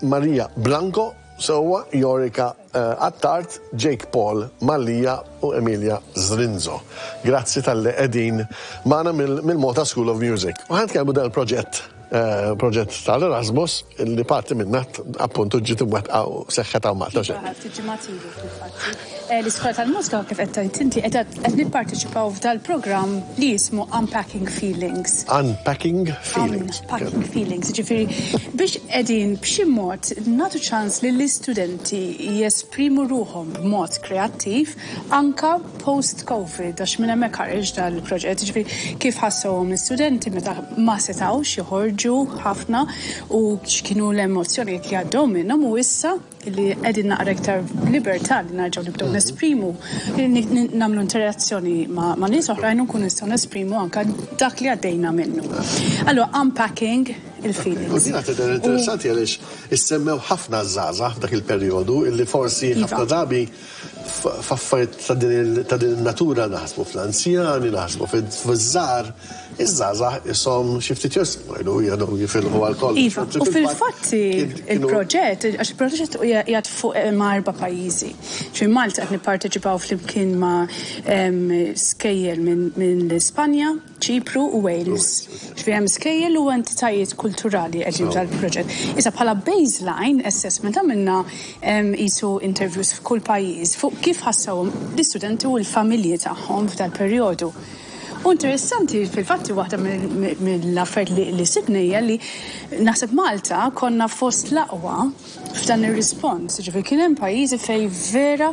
Maria Blanco, sewwa, Jorika Attard, Jake Paul Mallia u Emilia Zrinzo. Grazzi talli qegħdin magħna mill-Malta School of Music. U ħa nitkellmu dan il-proġett, proġett tal-Erasmus li parti minnha appuntu ġiet imwettqa u seħħet hawn Malta. Iva, ftit ġimgħat ilu fil-fatt. L-Iskola tal-Mużika kif qed tgħid inti qed qed nipparteċipaw f'dal-programm li jismu Unpacking Feelings. Unpacking Feelings. Unpacking Feelings, jiġifieri biex qegħdin b'xi mod nagħtu ċans lill-istudenti jesprimu ruħhom b'mod kreattiv anke post-Covid għax minn hemmhekk ħareġ dal-proġett, jiġifieri kif ħassewhom l-istudenti meta ma setgħux joħorġu ħafna u x'kienu l-emozzjonijiet li għaddew minnhom u issa li qegħdin naqra iktar b'libertà li nerġgħu nibdew nesprimu, nagħmlu interazzjoni ma' nies oħrajn u nkunu nistgħu nesprimu anke dak li għaddejna minnu. Allura unpacking il-feelings. U din tidher interessanti għaliex issemmew ħafna żgħażagħ f'dak il-perjodu illi forsi iva. ħafna drabi f'affarijiet ta' din in-natura naħsbu fl-anzjani, naħsbu fiż-żgħar, iż-żgħażagħ ishom xi ftit jgħidu jgħidu jifilħu għal kollox. Iva, u fil-fatt il-proġett, għax il-proġett qiegħed fuq eh, ma' erba' pajjiżi. Ġifieri Malta qed nipparteċipaw flimkien ma' skejjel minn l-Ispanja, Ċipru u Wales. Ġifieri hemm skejjel u entitajiet kulturali qegħdin f'dal-proġett. Issa bħala baseline assessment għamilna qisu interviews f'kull pajjiż fuq kif ħassewhom l-istudenti u l-familji tagħhom f'dal-perjodu. U interessanti fil-fatt waħda mill-affarijiet li sibna hija li naħseb Malta konna fost l-aqwa f'dan ir-rispons. Ġifieri kien hemm pajjiżi fejn vera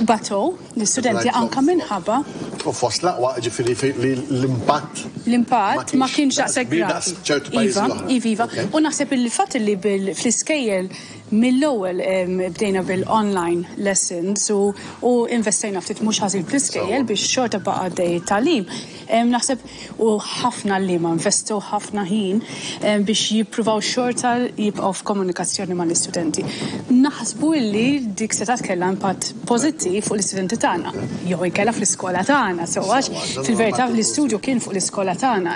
batow l-istudenti anke minħabba. U fost l-aqwa, ġifieri li l-impatt. L-impatt ma kienx daqshekk gravi. Iva, iva, iva. U naħseb il-fatt li fl-iskejjel mill-ewwel bdejna bil-online lessons u investejna ftit mhux ħażin fl-iskejjel biex xorta baqa' għaddej it-tagħlim. Naħseb u ħafna għalliema investew ħafna ħin biex jippruvaw xorta jibqgħu f'komunikazzjoni mal-istudenti. Naħsbu illi dik setgħet kellha impatt pożittiv fuq l-istudenti tagħna, jew inkella fl-iskola tagħna, sewwa għax fil-verità l-istudju kien fuq l-iskola tagħna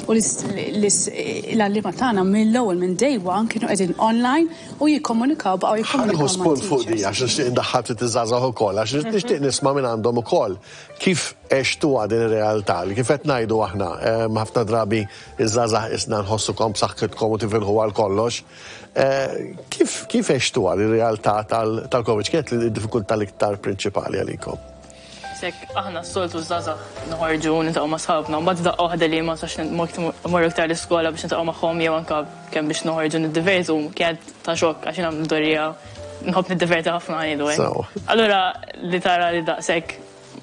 u l-għalliema tagħna mill-ewwel minn day one kienu qegħdin online u jikkomunikaw baqgħu jikkomunikaw. Ħa nieħu spunt fuq di għax nixtieq indaħħal ftit iż-żgħażagħ ukoll għax nixtieq nisma' mingħandhom ukoll kif Għextuha din ir-realtà li kif qed ngħidu aħna, ħafna drabi ż-żgħażagħ qisna nħossukom b'saħħitkom u tifilħu għal kollox. Kif kif għextuha r-realtà tal-Covid? X'kienet id-diffikultà l-iktar prinċipali għalikom? S'hekk aħna s-soltu ż-żgħażagħ noħorġu niltaqgħu ma' sħabna, mbagħad f'daqqa waħda li ma nistax mmorru iktar l-iskola biex niltaqgħu magħhom jew anke kemm biex noħorġu niddivertu kienet ta' xokk għax jiena mdorrija nħobb niddiverti ħafna ngħidu hekk. Allura li tara li daqshekk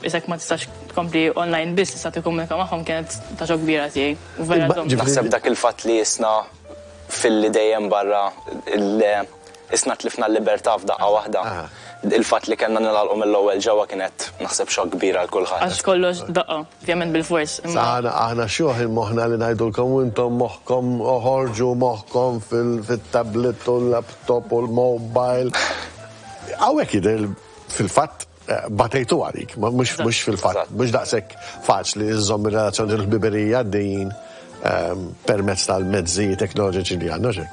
Isek ma tistax tkompli online biss tista' tikkomunika magħhom kienet ta' xokk kbira tiegħi. U vera żomm. Naħseb dak il-fatt li isna filli dejjem barra isna tlifna l-libertà f'daqqa waħda. Il-fatt li kellna ningħalqu mill-ewwel ġewwa kienet naħseb xokk kbir għal kulħadd. Għax kollox daqqa, ovvjament bilfors, imma. Aħna aħna xjuħ il-moħħna li ngħidulkom u intom moħħkom oħorġu moħħkom fit-tablet u l-laptop u l-mobile. Hawnhekk jidher fil-fatt Batejtu għalik, mhux fil-fatt, mhux daqshekk faċli żżomm ir-relazzjoni tal-ħbiberija għaddejjin ehm, permezz tal-mezzi teknoloġiċi li għandna xejn.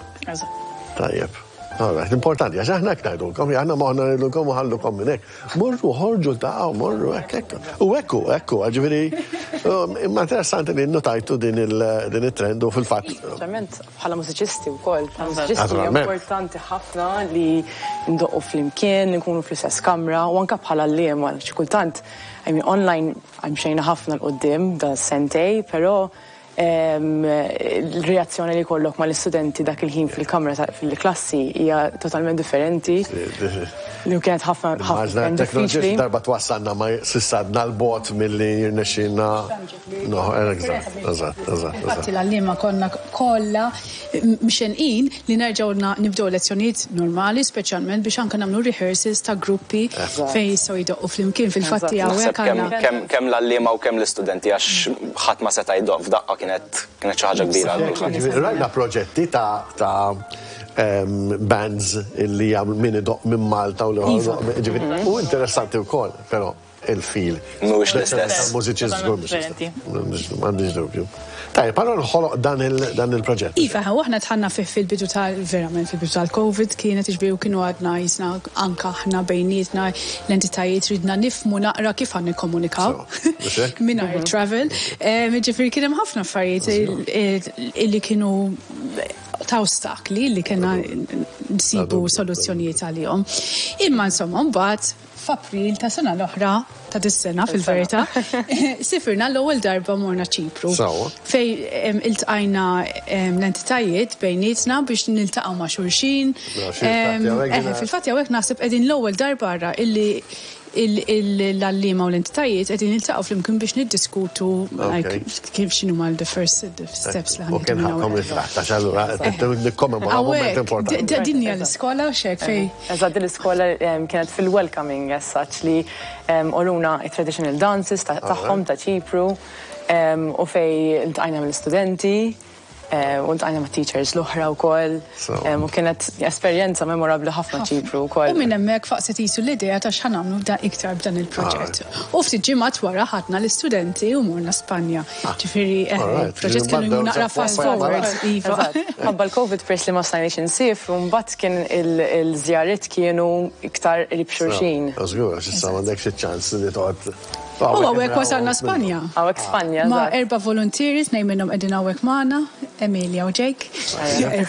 Tajjeb. Alright, importanti, għax aħna hekk ngħidulkom, aħna moħħna ngħidulkom u ħallukom minn hekk. Morru, ħorġu ta' morru hekk hekk. U hekk hu, hekk hu, ġifieri um, imma interessanti li nnotajtu din it-trend u fil-fatt. Speċjalment Bħala mużiċisti wkoll, bħala mużiċisti hija importanti ħafna li ndoqqu flimkien, nkunu fl-istess kamra u anke bħala għalliema xi kultant I mean online mxejna ħafna 'l quddiem da sentej, però l-reazzjoni li jkollok mal-istudenti dak il-ħin fil-kamra fil-klassi hija totalment differenti. Li kienet ħafna ħafna diffiċli. Darba twassalna ma s'issa għadna 'l bogħod milli jirnexxielna No, eżatt, eżatt, eżatt. Infatti l-għalliema konna kollha mxenqin li nerġgħu nibdew lezzjonijiet normali, speċjalment biex anke nagħmlu rehearsals ta' gruppi fejn jistgħu jdoqqu flimkien. Fil-fatti hawnhekk għandna. Kemm l-għalliema u kemm l-istudenti għax ħadd ma seta' jdoqq f'daqqa kienet kienet xi ħaġa kbira għal kulħadd. Rajna proġetti ta' bands li jagħmlu min idoqq minn Malta u l-ieħor. U interessanti wkoll, però. il-feel. Mhuwiex l-istess. Mużiċist żgur mhux l-istess. M'għandix dubju. Tajjeb, allura nħoloq dan il-proġett. Iva, u aħna dħalna fih fil-bidu tal, verament fil-bidu tal-Covid kienet iġbiri u kienu għadna jisna anka aħna bejnietna l-entitajiet ridna nifhmu naqra kif għan nikkomunikaw mingħajr travel. Ġifieri kien hemm ħafna affarijiet illi kienu ta' ostakli li kellna nsibu soluzzjonijiet għalihom. Imma insomma mbagħad f'April ta' sena l-oħra, ta' dis-sena fil-verità, sifirna l-ewwel darba morna Ċipru. Fej iltqajna l-entitajiet bejnietna biex niltaqgħu ma' xulxin. Fil-fatt hawnhekk naħseb qegħdin l-ewwel darba ara illi l-għalliema u l-entitajiet qegħdin niltaqgħu flimkien biex niddiskutu kif x'inhuma the first steps li U kien ħakkom ritratt, għax allura nikkommemora moment importanti. Din hija l-iskola u xek fej. Eżatt, din l-iskola kienet fil-welcoming as such li urewna traditional dances tagħhom ta' Ċipru u fej iltqajna mill-istudenti u ltqajna ma' teachers l-oħra wkoll. U kienet esperjenza memorabbli ħafna Ċipru wkoll. U minn hemmhekk faqset jisu l-idea ta' x'ħa nagħmlu da iktar b'dan il-proġett. U ftit ġimgħat wara ħadna l-istudenti u morna Spanja. Ġifieri proġett kienu jmur naqra fast forward. Iva. Ħabba l-Covid peress li ma stajniex insifru, mbagħad kien il-żjarit kienu iktar qrib xulxin. Żgur, għax issa m'għandekx iċ-ċans li toqgħod. U hawnhekk wasalna Spanja. Hawnhekk Spanja. Ma' erba' voluntieri, tnejn minnhom qegħdin hawnhekk magħna, Emilia u Jake.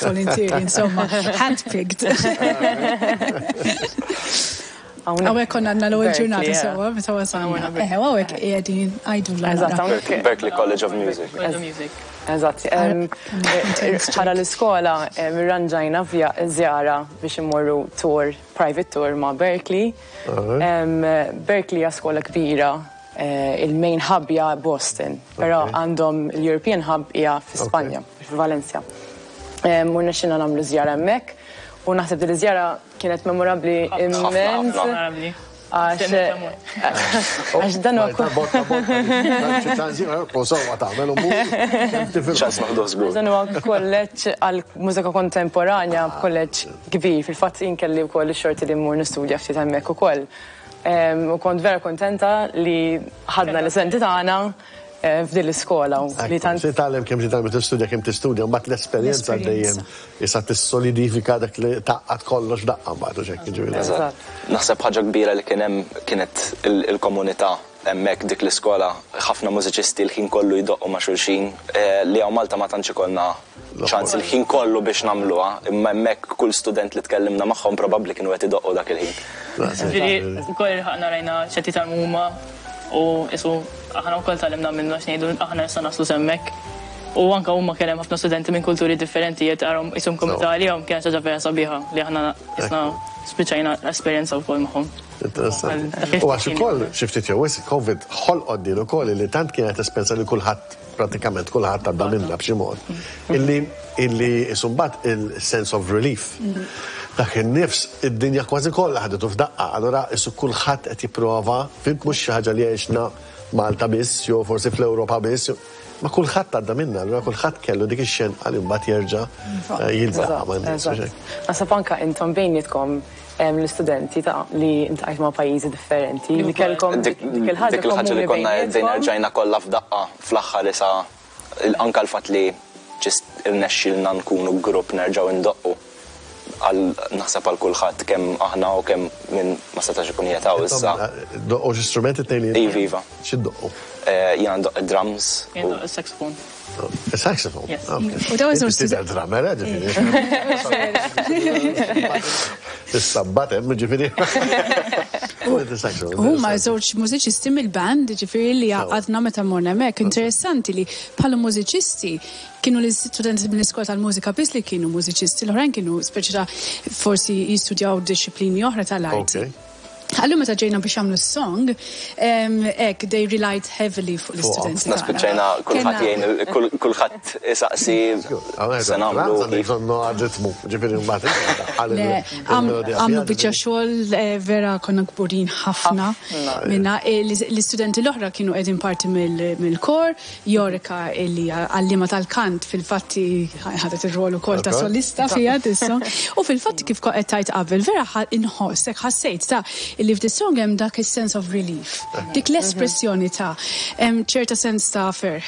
Voluntieri, insomma, handpicked. Hawnhekk konna għandna l-ewwel ġurnata sewwa meta wasalna. Hawnhekk qegħdin għidu l Berklee College of Music. Eżatt. Bħala l-iskola irranġajna żjara biex immorru tour, private tour ma' Berklee. Berklee hija skola kbira, il-main hub hija Boston, però għandhom l-European hub hija fi Spanja, fi Valencia. U rnexxilna nagħmlu żjara hemmhekk u naħseb li l-żjara kienet memorabbli immens. Għax dan huwa Dan huwa kolleġġ għal mużika kontemporanja, kolleġġ kbir. Fil-fatt jien kelli wkoll ix-xorti li mmur nistudja ftit hemmhekk ukoll. U kont vera kontenta li ħadna l-istudenti tagħna f'din l-iskola. Li tant titgħallem kemm titgħallem tistudja kemm tistudja, mbagħad l-esperjenza dejjem issa tissolidifika dak li tgħaqqad kollox daqqa mbagħad u xekk ġifieri. Naħseb ħaġa kbira li kien hemm kienet il-komunità hemmhekk dik l-iskola, ħafna mużiċisti l-ħin kollu jdoqqu ma' xulxin, li hawn Malta ma tantx ikollna ċans il-ħin kollu biex nagħmluha, imma hemmhekk kull student li tkellimna magħhom probabbli kienu qed idoqqu dak il-ħin. Ġifieri wkoll ilħaqna rajna x'qed jitgħallmu huma u isu aħna wkoll tgħallimna minnu għax ngħidu aħna nista' naslu s'hemmhekk. U anka huma kien hemm ħafna studenti minn kulturi differenti qed tarahom qishom komunità għalihom kienet ħaġa vera sabiħa li aħna isna spiċċajna esperjenza wkoll magħhom. Interessanti. U għax ukoll xi ftit jew wisq Covid ħolqot din ukoll li tant kienet esperjenza li kulħadd pratikament kulħadd għadda minnha b'xi mod. Illi imbagħad il-sense of relief. Dak in-nifs id-dinja kważi kollha ħadetu f'daqqa, allura isu kulħadd qed jipprova, fhimt mhux xi ħaġa li għexna Malta biss, jew forsi fl-Ewropa biss, ma kulħadd għadda minnha, allura kulħadd kellu dik ix-xenqa li mbagħad jerġa' jiltaqa' man-nies. Naħseb anka intom bejnietkom l-istudenti ta' li iltqajt ma' pajjiżi differenti li kellkom dik il-ħaġa li konna bdejna rġajna kollha f'daqqa fl-aħħar isa anka l-fatt li just irnexxilna nkunu grupp nerġgħu ndoqqu għal naħseb għal kulħadd kemm aħna u kemm min ma setax ikun jetaw issa. Doqqu xi strumenti tnejn li Iva, iva. Xi doqqu? Jiena ndoqq drums. Jien ndoqq is-saxophone. Saxophone? Yes. U daw iż Tidher drummer, ġifieri. Is-sabbat hemm ġifieri. Huma żewġ mużiċisti mill-band, ġifieri li għadna meta morna hemmhekk. Interessanti li bħala mużiċisti kienu l-istudenti mill-iskola tal-mużika biss li kienu mużiċisti, l-oħrajn kienu speċi ta' forsi jistudjaw dixxiplini oħra tal-arti. Allura meta ġejna biex għamlu s-song, ek, they relied heavily fuq l-istudenti. Na spiċċajna kulħadd jgħin, kulħadd isaqsi se nagħmlu. Bżonnu ritmu, ġifieri mbagħad. Le, għamlu biċċa xogħol vera konna kburin ħafna minna. L-istudenti l-oħra kienu qegħdin parti mill-kor, Jorika illi għallima tal-kant fil-fatti ħadet ir-rol ukoll ta' solista fija tissa. U fil-fatti kif qed tajt qabel, vera inħoss, hekk ħassejt ta' Illi f'dis-song hemm dak is-sense of relief. Dik l-espressjoni ta' hemm ċerta sens ta' ferħ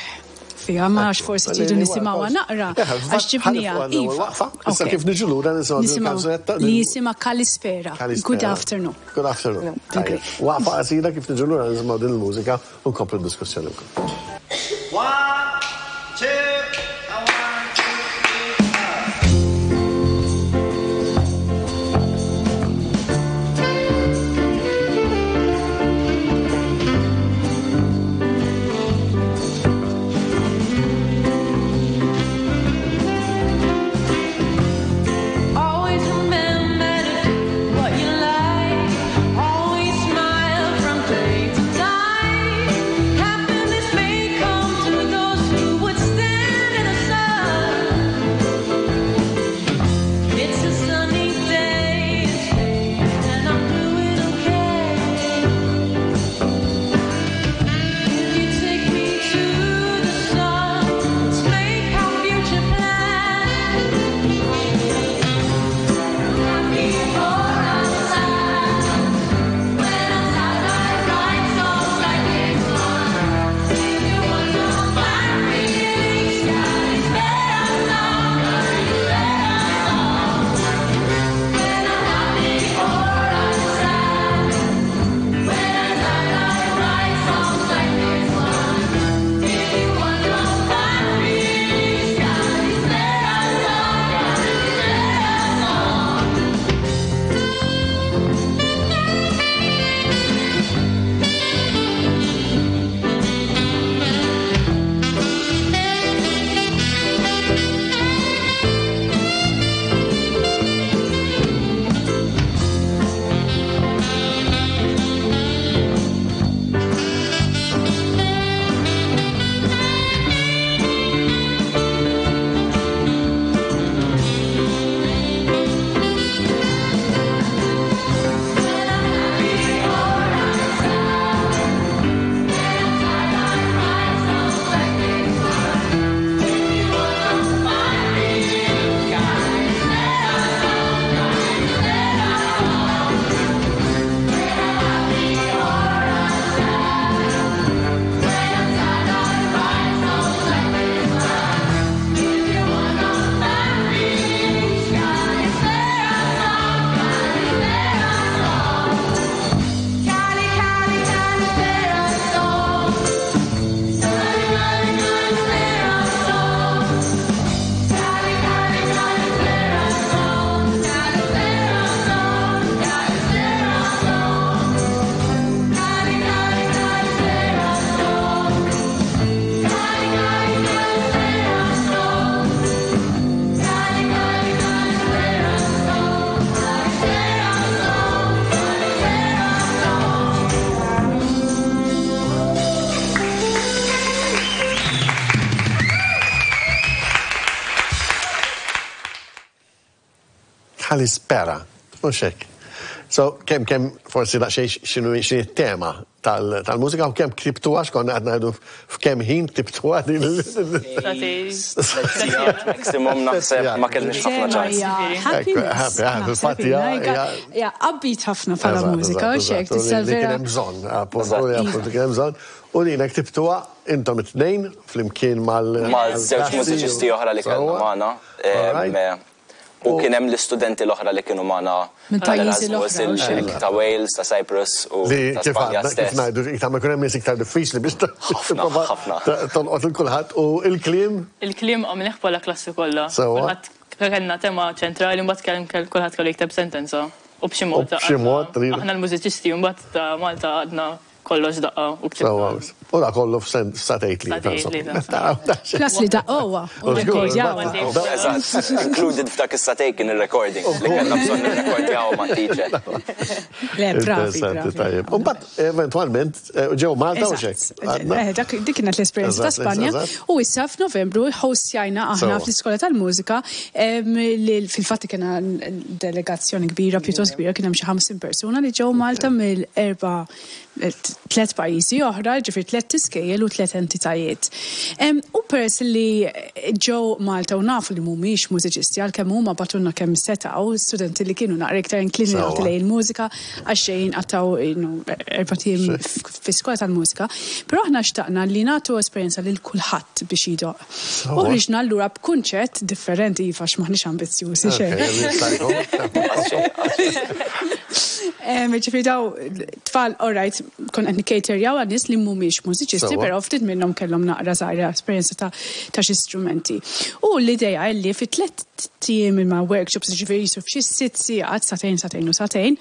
fiha, ma nafx forsi tridu nisimgħuha naqra għax ġibniha. Iva. Issa kif niġu lura nisimgħu din il-kanzunetta. Li jisimha Kalispera. Good afternoon. Good afternoon. Waqfa qasira kif niġu lura nisimgħu din il-mużika u nkomplu d-diskussjoni wkoll. One, two, a one, two, three, four. Always remember to do what you like. Always smile from day to night. Happiness may come to those who would stand in the sun. It's a sunny day, and I'm doing okay. If you take me to the sun, let's make our future plan. Happy or I'm sad. When I'm sad, I write songs like this one. If you want to find feelings, Kalispera song, Kalispera song. When I'm happy or I'm sad. When I'm sad, I write songs like this one. If you want to find feelings, Kalispera song, Kalispera song. Cali, Cali, Kalispera song. Cali, Cali, Kalispera song. Cali, Cali, Kalispera song. Kalispera song. Kalispera song. Cali, Cali, Kalispera song. Cali, Cali, Kalispera song. Cali, Cali, Kalispera song. Kalispera song. Kalispera song. Kalispera, mhux hekk. So, kemm kemm forsi daqsxejn x'inhu x'inhi t-tema tal-mużika u kemm ktibtuha x'konna qed ngħidu f'kemm ħin ktibtuha din Maximum naħseb ma kellniex ħafna ċans. Happy, fil-fatt hija- Ja, upbeat ħafna bħala mużika, u xek, tista' Li kien vera. hemm bżonn, appuntu, li appuntu kien hemm bżonn. U li ktibtuha intom it-tnejn flimkien mal Ma' żewġ mużiċisti oħra li kellna magħna. Alright. U kien hemm l-istudenti l-oħra li kienu magħna Minn pajjiżi tal-Erasmus, l-oħra, u il- xek. ta' Wales, ta' Cyprus u Li ta' kif Spanja għadna, kif stess. ngħidu, iktar ma jkun hemm nies iktar diffiċli biex Ħafna, tipprova ħafna. tolqot il kulħadd u il-kliem Il-kliem għamilnieh bħala klassi kollha. Sewwa. Kulħadd kellna tema ċentrali mbagħad kell kulħadd kellu jikteb sentenza. U b'xi mod. U b'xi mod, għadna- Aħna l-mużiċisti mbagħad ta' Malta għadna kollox daqqa u Sewwa. ktibna. U da kollu f'satejt li. Satejt li, ta. Plus li daqqowa u rekordjawa. Eżatt, included f'dak is-satej kien il-recording li kellna bżonn nirrekordjaw ma' teacher. Le, bravi, Interessanti, bravi. tajjeb. U mbagħad eventwalment eh, ġew Malta u xek. Eżatt. Eh, dak- Dik kienet l-esperjenza ta' Eżatt, Spanja. eżatt. U issa f'Novembru ħostjajna aħna Sewwa. fl-Iskola tal-Mużika em, li fil-fatt kien delegazzjoni kbira, pjuttost kbira, kien hemm xi 50 persuna li ġew Malta mill-erba' tlet pajjiżi oħra, ġifier tlet tlett iskejjel u tlett entitajiet. U peress li ġew Malta u nafu li mhumiex mużiċisti għalkemm huma bagħtulna kemm setgħu studenti li kienu naqra iktar inklinati lejn il-mużika għax ġejjin qattgħu erbat ijiem fi skola tal-mużika. Però aħna xtaqna li nagħtu esperjenza lil kulħadd biex jdoqq. U ħriġna allura b'kunċett differenti, iva għax m'aħniex ambizzjużi xejn. Ġifieri daw tfal, all right, konna qed nikkaterjaw għal nies li mhumiex mużiċisti, però ftit minnhom kellhom naqra żgħira esperjenza ta' xi strumenti. U l-idea li fi tlett ijiem ma' workshops, ġifieri jisu f'xi sitt sigħat, sagħtejn, sagħtejn u sagħtejn,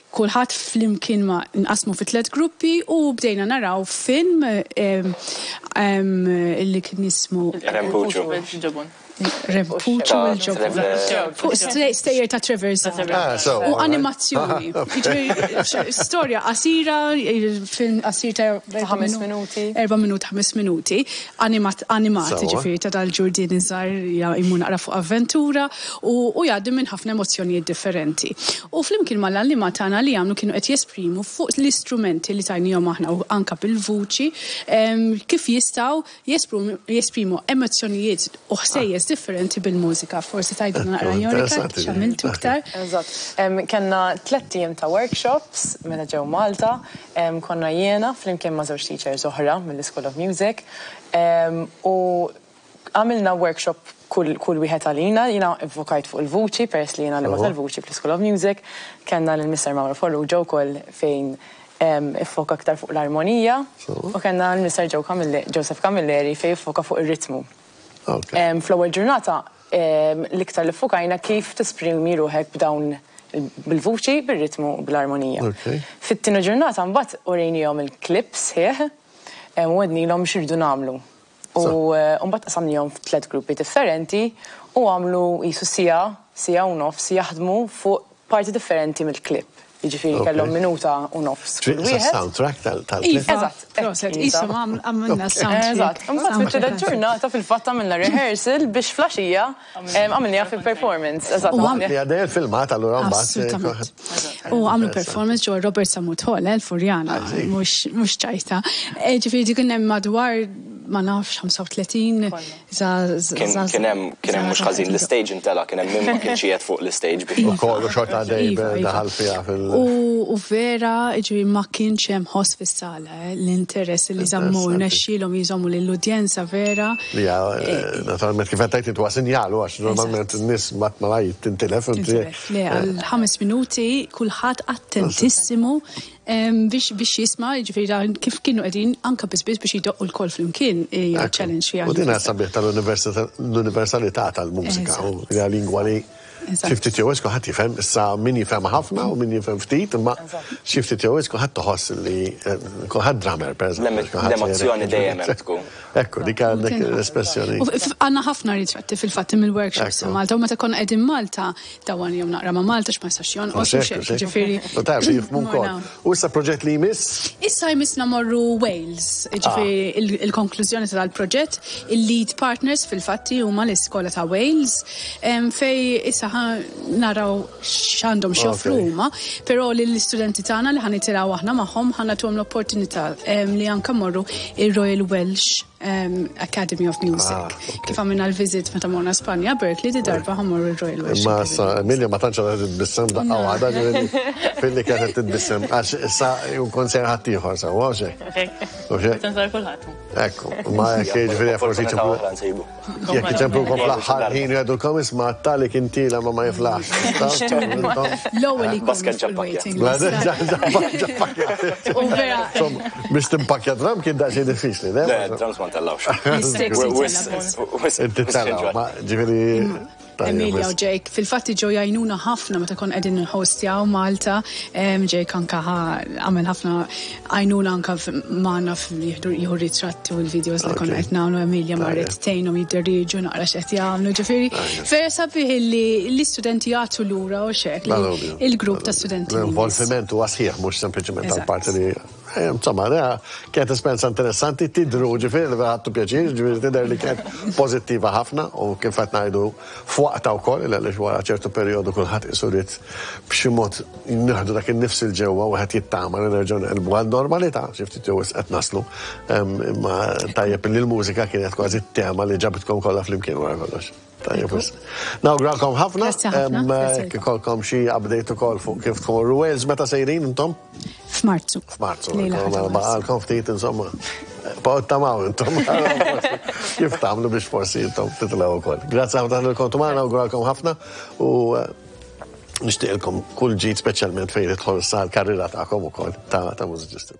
Kulħadd flimkien ma nqasmu fi tlett gruppi u bdejna naraw film li kien jismu Rempuċu. Rempuċu il-ġobon. Fuq stejjer ta' Trevor Zahra. U animazzjoni. Jiġifieri storja qasira, film qasir ta' ħames minuti. Erba' minuti, ħames minuti. Animat, jiġifieri ta' dal-ġurdien iż-żgħar jmur naqra fuq avventura. U jgħaddi minn ħafna emozzjonijiet differenti. U flimkien mal-għalliema tagħna li għamlu kienu qed jesprimu fuq l-istrumenti li tajniehom aħna u anke bil-vuċi kif jistgħu jesprimu emozzjonijiet u ħsejjes differenti bil-mużika. Forsi tgħidilna naqra Jorika x'għamiltu iktar. Eżatt. Kellna tlett ijiem ta' workshops meta ġew Malta. Konna jiena flimkien ma' żewġ teachers oħra mill-Ischool of Music u Għamilna workshop kull kull wieħed għalina, jiena ivvokajt fuq il-vuċi peress li jiena għalliema tal-vuċi fl-Ischool of Music, kellna lil Mister Mauro Farrugia wkoll fejn iffoka aktar fuq l-armonija u kellna lil Mister Joe Camilleri, Joseph Camilleri fejn iffoka fuq ir-ritmu. Fl-ewwel ġurnata l-iktar li ffokajna kif tesprimi ruħek b'dawn bil-vuċi, bir-ritmu u bl-armonija. Fit-tieni ġurnata mbagħad urejniehom il-clip sħiħ u għednilhom x'irridu nagħmlu. U mbagħad qasamnihom f'tliet gruppi differenti u għamlu qisu siegħa, siegħa u nofs jaħdmu fuq parti differenti mill-clip. Jiġifieri kellhom minuta u nofs kull wieħed. Soundtrack tal-clip. Eżatt. Proset, qishom għamilna soundtrack. Eżatt. Imbagħad fit-tielet ġurnata fil-fatt għamilna rehearsal biex fl-għaxija għamilniha fil-performance. Eżatt. Li għaddej il-filmat allura mbagħad. Assolutament. U għamlu performance ġewwa Robert Sammut Hall, l-Furjana, mhux ċajta. Ġifieri dik kien hemm madwar ma nafx 35 Kien hemm kien hemm mhux ħażin l-istage intela' kien hemm min ma kienx qiegħed fuq l-istage biex. Ukoll u xorta għaddej daħal fiha fil. U vera ġifieri ma kienx hemm ħoss fis-sala, l-interess li żammu rnexxielhom jżommu lill-udjenza vera. Li hija naturalment kif qed tgħid int huwa sinjal u għax normalment in-nies malajr tintilef. Tintilef. Le għal ħames minuti kulħadd attentissimu biex biex jisma' jiġifieri dan kif kienu qegħdin anke biss biss biex jdoqqu lkoll flimkien hija challenge fiha. U din hija sabiħ tal-universalità tal-mużika u hija lingwa li xi ftit jew wisq kulħadd jifhem, issa min jifhem ħafna u min jifhem ftit, imma xi ftit jew wisq kulħadd iħoss li kulħadd drummer pereżempju. L-emozzjoni dejjem hemm tkun. Ekku, dik għandek l-espressjoni. Għandna ħafna ritratti fil-fatt mill-workshops Malta u meta konna qegħdin Malta Dawan jew naqra ma' Malta x'ma jistax jonqos u xejn, ġifieri. U taf jifhmu wkoll. U issa proġett li jmiss? Issa jmissna morru Wales, ġifieri il-konklużjoni ta' dal-proġett, il-lead partners fil-fatti huma l-iskola ta' Wales, fej issa naraw x'għandhom x'joffru huma, però lill-istudenti tagħna li ħa nitilgħu aħna magħhom ħa nagħtuhom l-opportunità li anke morru ir-Royal Welsh Academy of Music. Ah, Kif għamilna l-visit meta morna Spanja, Berkeley, di darba ħammorru l-Royal Welsh. Ma sa, Emilia ma tantx għadha titbissem daqqa waħda, filli kienet titbissem, għax sa jkun ser ħaddieħor sa, u xejn. U xejn. Tensar kulħadd. Ekku, ma jekk jiġifieri forsi ċemplu. Jekk iċemplu kom fl-aħħar ħin jgħidulkom isma' tali kien tila ma ma jiflaħx. L-ewwel li Basket ġappakja. U vera. Biex timpakja drum kien daqsxejn diffiċli, le? Le, drums ma ntellgħux. Inti tellgħu, ma ġifieri. Emilia u Jake, fil-fatt ġew jgħinuna ħafna meta kon qegħdin nħostjaw Malta. Jake anka għamel ħafna għajnuna anka magħna jieħdu ritratti u l-videos li konna qed nagħmlu Emilia marret tgħinhom jidderieġu naqra x'qed jagħmlu. Ġifieri vera sabiħ li l-istudenti jagħtu lura u x'hekk il-grupp ta' studenti. L-involviment huwa sħiħ mhux sempliċement tal-parti li. Eh, insomma, kienet esperjenza interessanti, tidru ġifieri li ħadtu pjaċir, ġifieri tidher li kienet pożittiva ħafna u kif qed ngħidu f'waqta wkoll għaliex wara ċertu perjodu kulħadd isu ried b'xi mod nieħdu dak in-nifs 'il ġewwa u wieħed jittama li nerġgħu neqilbu għan-normalità, xi ftit jew wisq qed naslu. Imma tajjeb li l-mużika kienet kważi t-tema li ġabitkom kollha flimkien wara kollox. Tajjeb wisq. Nawguralkom ħafna. Grazzi ħafna. Ikolkom xi update ukoll fuq kif tmorru Wales meta sejrin intom? F'Marzu. F'Marzu. Baqalkom ftit insomma. Baqgħu tamaw intom. Kif tagħmlu biex forsi intom titilgħu wkoll. Grazzi ħafna li kontu magħna, nawguralkom ħafna u eh, nixtieqilkom kull ġid speċjalment fejn idħol sa l-karriera tagħkom ukoll ta' mużiċisti.